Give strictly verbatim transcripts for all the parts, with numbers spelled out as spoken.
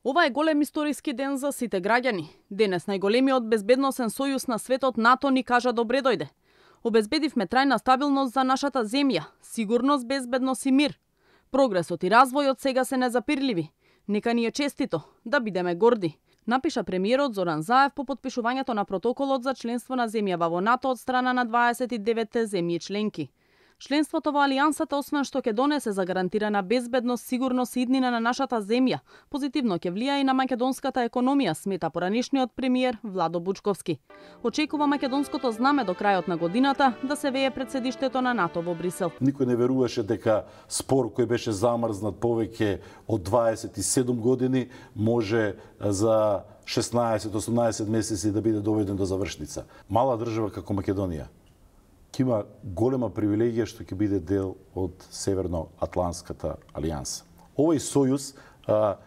Ова е голем историски ден за сите граѓани. Денес најголемиот безбедносен сојуз на светот НАТО ни кажа добре дојде. Обезбедивме трајна стабилност за нашата земја, сигурност, безбедност и мир. Прогресот и развојот сега се незапирливи. Нека ни е честито, да бидеме горди, напиша премиерот Зоран Заев по потпишувањето на протоколот за членство на земјава во НАТО од страна на дваесет и деветте земји членки. Членството во Алијансата, освен што ќе донесе за гарантирана безбедност, сигурност и иднина на нашата земја, позитивно ќе влија и на македонската економија, смета поранишниот премиер Владо Бучковски. Очекува македонското знаме до крајот на годината да се вее пред седиштето на НАТО во Брисел. Никој не веруваше дека спор кој беше замрзнат повеќе од дваесет и седум години може за шеснаесет осумнаесет месеци да биде доведен до завршница. Мала држава како Македонија ќе има голема привилегија што ќе биде дел од Северно-Атлантската алијанса. Овој сојуз а,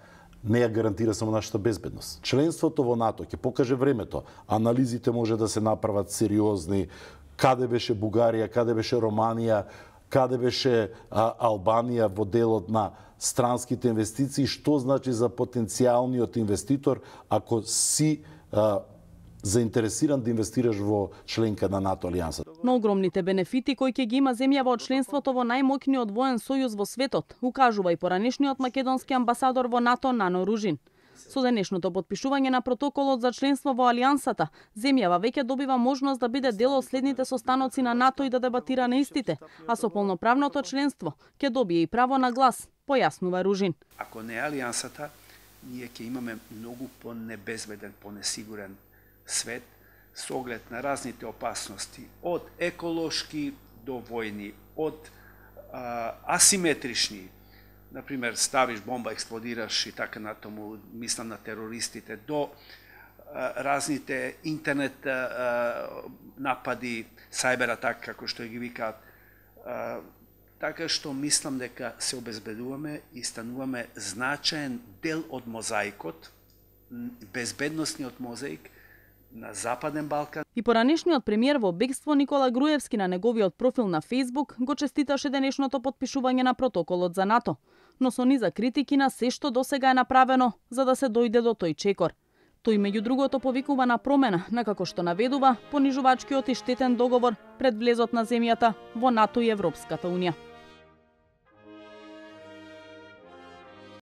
не ја гарантира само нашата безбедност. Членството во НАТО ќе покаже времето. Анализите може да се направат сериозни. Каде беше Бугарија, каде беше Романија, каде беше а, Албанија во делот на странските инвестиции, што значи за потенцијалниот инвеститор ако си а, заинтересиран да инвестираш во членка на НАТО алијансата. Но огромните бенефити кои ќе ги има земјава од членството во најмоќниот воен сојуз во светот, укажува и поранишниот македонски амбасадор во НАТО Нано Ружин. Со денешното потпишување на протоколот за членство во алијансата, земјава веќе добива можност да биде дел од следните состаноци на НАТО и да дебатира на истите, а со полноправното членство ќе добие и право на глас, појаснува Ружин. Ако не алијансата, ние ќе имаме многу понебезбеден, понесигурен свет со оглед на разните опасности, од еколошки до војни, од а, асиметрични, например ставиш бомба, експлодираш и така натаму, мислам на терористите, до а, разните интернет а, напади, сайбер атак, како што ги викаат. А, така што мислам дека се обезбедуваме и стануваме значаен дел од мозаикот, безбедносниот мозаик, на Западен Балкан. И поранишниот премиер во бегство Никола Груевски на неговиот профил на Facebook го честиташе денешното потпишување на протоколот за НАТО, но со низа критики на се што досега е направено за да се дојде до тој чекор. Тој меѓу другото повикува на промена, на како што наведува понижувачкиот и штетен договор пред влезот на земјата во НАТО и Европската унија.